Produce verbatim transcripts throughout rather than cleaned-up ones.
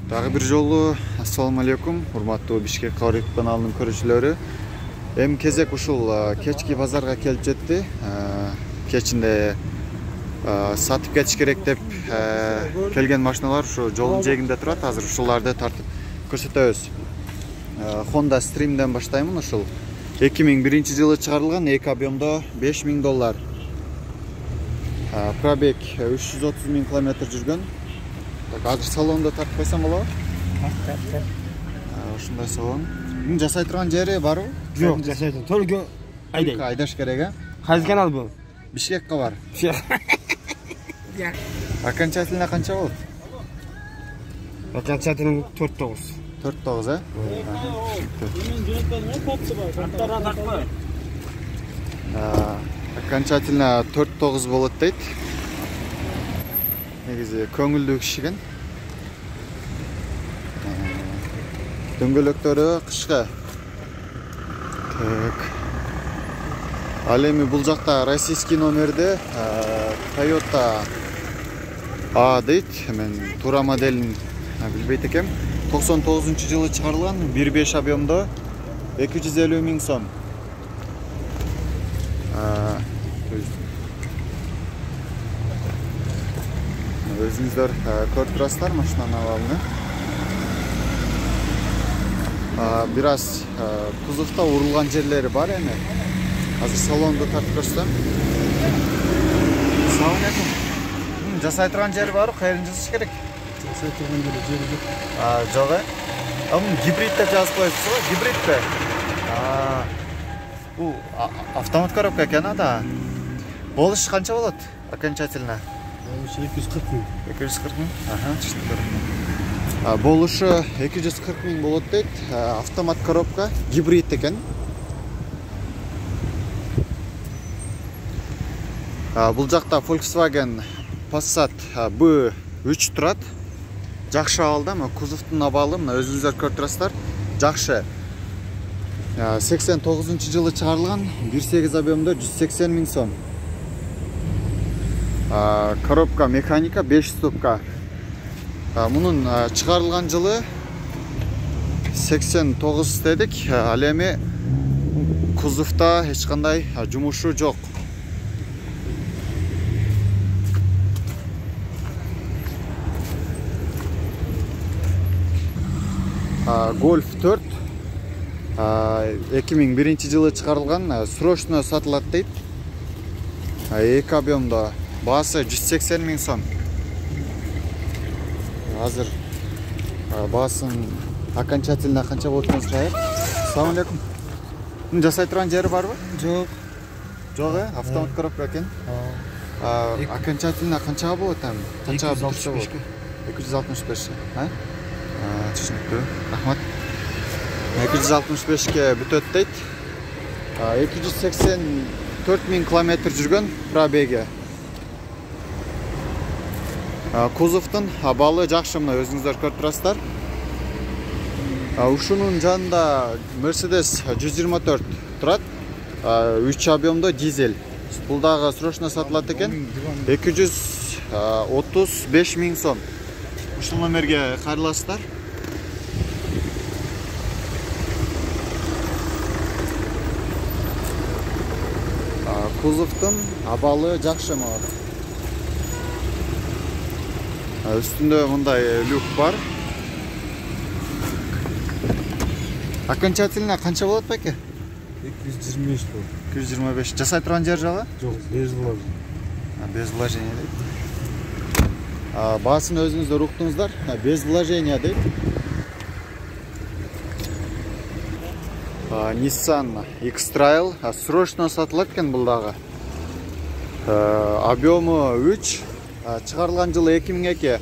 Дагы бир жолу ассаламу алейкум, урматтуу Бишкек Кабар каналынын көрүүчүлөрү. Эми кезек ушул кечки базарга келип жетти. Кечинде сатып кетиш керек деп келген машиналар ушу жолдун жээгинде турат. Азыр ушуларды тартып көрсөтөбүз. Honda Stream'ден баштаймын. Ушул эки миң биринчи жылы чыгарылган, эки объемдо беш миң доллар. Пробег үч жүз отуз миң километр жүргөн. Азыр салонду тартып койсом болобу? Тарт. Ушундай салон. Муну жасай турган жери барбы? Жок, жасайт. Только айдай. Айдаш керек, а? Кайсы канал бул? Бишкек Кабар. Окончательно канча болот? Окончательно төрт тогуз. төрт тогуз, э? Окончательно төрт тогуз болот дейт. Негизи көңүлдүү кишиген. Дөңгөлөктөрү кышкы. Так. Ал эми бул жакта российский номерде Toyota А дейт. Мен туура моделин билбейт экем. токсон тогузунчу жылы чыгарылган, бир беш объемдо эки жүз элүү миң сом. Өзүңүздөр көрүп турасыздар машинанын абалын. Бир аз кузовдо урулган жерлери бар эми. Азыр салонду тартып көрсөтөм. Салам алейкум. Жасай турган жери барбы? Кайерин жасаш керек? Жасай турган жери жок. А, жок, э? А бул гибрид деп жазып коесуз го? Гибридпи? А. Бул автомат коробка экен да. Болуш канча болот? Окончательно. эки жүз кырк миң. эки жүз кырк миң? Аха, түшүндүм. Болушу эки жүз кырк миң болот дейт. Автомат коробка, гибрид экен. Бул жакта Volkswagen Passat бэ үч турат. Жакшы абалда, мына кузовдун абалы, мына өзүңүздөр көрүп турасыздар. Жакшы. сексен тогузунчу жылы чыгарылган, бир сегиз объемдо жүз сексен миң сом. Коробка механика беш ступка. Мунун чыгарылган жылы сексен тогуз дедик. Ал эми кузовдо эч кандай жумушу жок. Golf төрт эки миң биринчи жылы чыгарылган, срочно сатылат дейт. эки объемдо баасы жүз сексен миң сом. Азыр баасын окончательно канча болот экенин сурайбы. Салам алейкум. Муну жасай турган жери барбы? Жок. Жок, э? Автомат коробка экен. Окончательно канча болот эми? Канча болот? эки жүз алтымыш беш, а? Түшүнүктүү. Рахмат. эки жүз алтымыш бешке бүтөт дейт. эки жүз сексен төрт миң километр жүргөн пробеги. Кузовдун абалы жакшы, мына өзүңүздөр көрүп турасыздар. Ушунун жанында Mercedes жүз жыйырма төрт турат. үч объемдо дизель. Бул дагы срочно сатылат экен. эки жүз отуз беш миң сом. Ушул номерге кайрыласыздар. Кузовдун абалы жакшы мага. Үстүндө мындай люк бар. Окончательно канча болот беке? эки жүз жыйырма беш болот. эки жүз жыйырма беш. Жасай турган жер жагы? Жок, без вложения. Без вложения дейт. Баасын өзүңүздөр уктуңуздар. Без вложения дейт. Nissan X-Trail срочно сатылат экен бул дагы. Объему үч, чыгарылган жылы эки миң эки,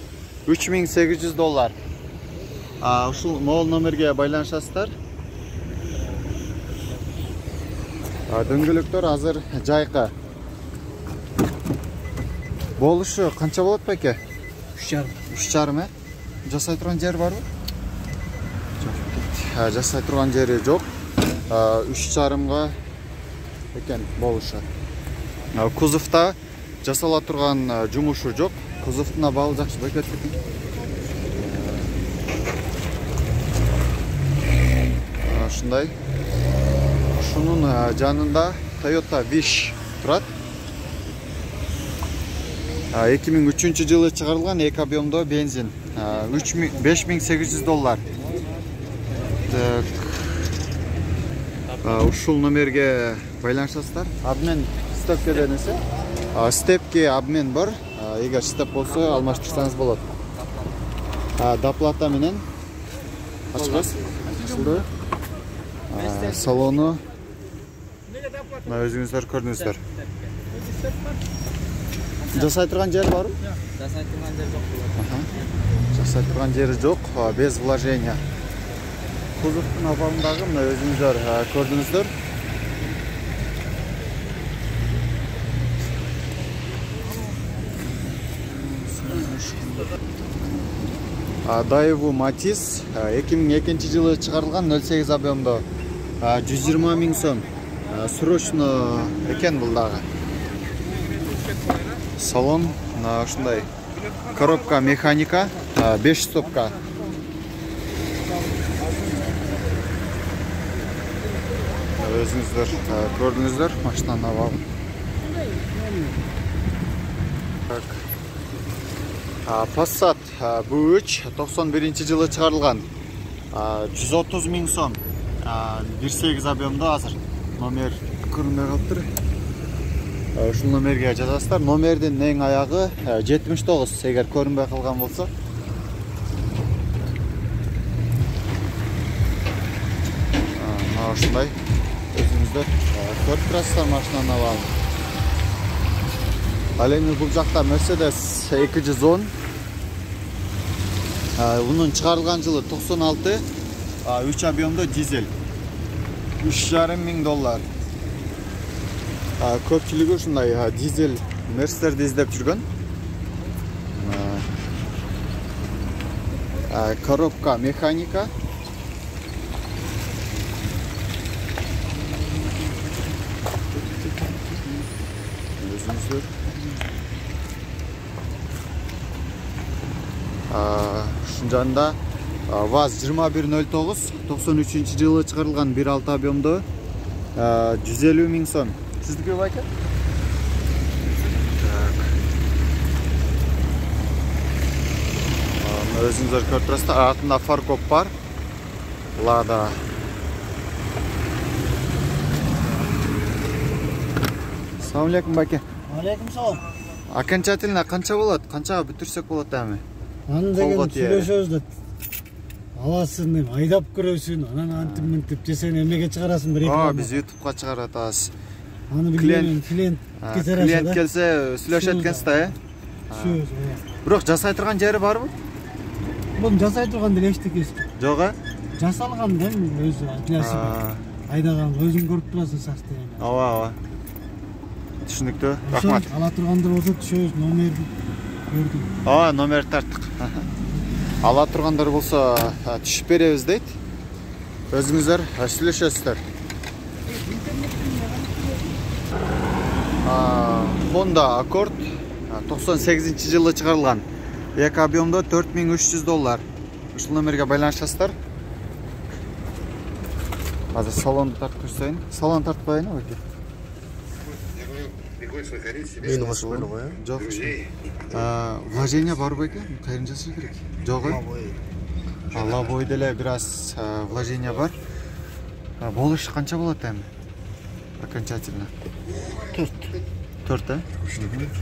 үч миң сегиз жүз доллар. Ушул могул номерге байланышасыздар. Дөңгөлөктөр азыр жайкы. Болушу канча болот беке? үч жарым. үч жарым, э? Жасай турган жер барбы? Жок. Жасай турган жери жок. үч жарымга экен болушу. Кузовдо жасала турган жумушу жок. Кузовдун абалы жакшы бекет экен. ушундай. Ушунун жанында Toyota Wish турат. эки миң үчүнчү жылы чыгарылган эки объемдо бензин. беш миң сегиз жүз доллар. Ушул номерге байланышасыздар. Обмен степке денесе. Степке обмен бар. Эгер степ болсо алмаштырсаңыз болот. Доплата менен ачкыз. Ушундай. Салону өзүңүздөр көрдүңүздөр. Жасай турган жер барбы? Жасай турган жер жок. Жасай турган жери жок, без вложения. Кузовтун абалындагы мына өзүңүздөр көрдүңүздөр. Daewoo Matiz эки миң экинчи жылы чыгарылган нөл сегиз объемдо жүз жыйырма миң сом. Срочно экен бул дагы. Салон ушундай. Коробка механика, беш стопка. Өзүңүздөр көрдүңүздөр машинанын абалын. Passat би үч токсон биринчи жылы чыгарылган. жүз отуз миң сом. бир сегиз объемдо азыр. Номер көрүнбөй калыптыр. Ушул номерге жазасыздар. Номердин эң аягы жетимиш тогуз, эгер көрүнбөй калган болсо. Мына ушундай. Өзүңүздөр көрүп турасыздар машинанын абалын. Ал эми бул жакта Mercedes эки жүз он. Унун чыгарылган жылы токсон алты, үч объемдо дизель. үч жарым миң доллар. Көпчүлүгү ушундай дизель Mercedes'ти издеп жүргөн. Коробка механика. Өзүңүздөр. Ушун жанында ВАЗ жыйырма бир нөл тогуз токсон үчүнчү жылы чыгарылган бир алты объемдо жүз элүү миң сом. Сиздики байка? Өзүңүздөр көрүп турасыздар. Артында фаркоп бар. Лада. Assalamu alaikum байке. Алейкум салам. Окончательно канча болот? Канчага бүтүрсөк болот эми? Аны деген сүйлөшөбүз да. Аласын, айдап көрөсүн, анан антип мынтип жесен эмеге чыгарасың бир эки. А, биз ютубка чыгарып атабыз. Аны билген клиент кетер аса. Клиент келсе сүйлөшөт экенсиз да, э? Сөз. Бирок жасай турган жери барбы? Бул жасай турган деле эчтекеси. Жок, э? Жасалган да өзү атласы бар. Айдаган өзүң көрүп турасың состояние. Ооба, ооба. Түшүнүктүү. Рахмат. Ала тургандыр болсо түшөбүз, номерди көрдүм. А, номер тарттык. Ала тургандар болсо түшүп беребиз дейт. Өзүңүздөр сүйлөшөсүздөр. Honda Accord токсон сегизинчи жылы чыгарылган. эки объемдо төрт миң үч жүз доллар. Ушул номерге байланышасыздар. Азыр салонду тартып көрсөйүн. Салон тартып коеюн байке. Мени машина го, э? Жок. Вложение бар байке? Кайрын жасай керек? Жок, э? Лобой деле бир аз вложение бар. Болуш канча болот эми? Окончательно. төрт. төрт, э?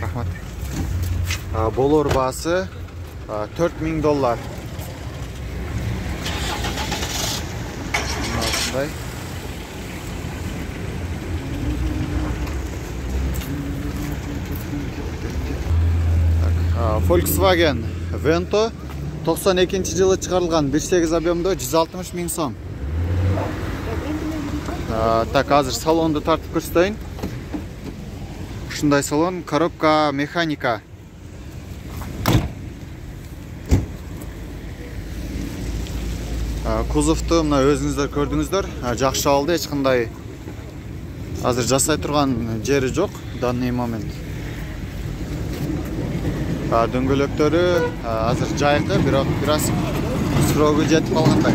Рахмат. Болор баасы төрт миң доллар. Мындай. Volkswagen Vento токсон экинчи жылы чыгарылган бир сегиз объемдо жүз алтымыш миң сом. Так, азыр салонду тартып көрсөтөйүн. Ушундай салон, коробка механика. Кузовту мына өзүңүздөр көрдүңүздөр. Жакшы алды, эч кандай азыр жасай турган жери жок данный момент. Дөңгөлөктөрү азыр жайкы, бирок бир аз срогу жетип калгандай.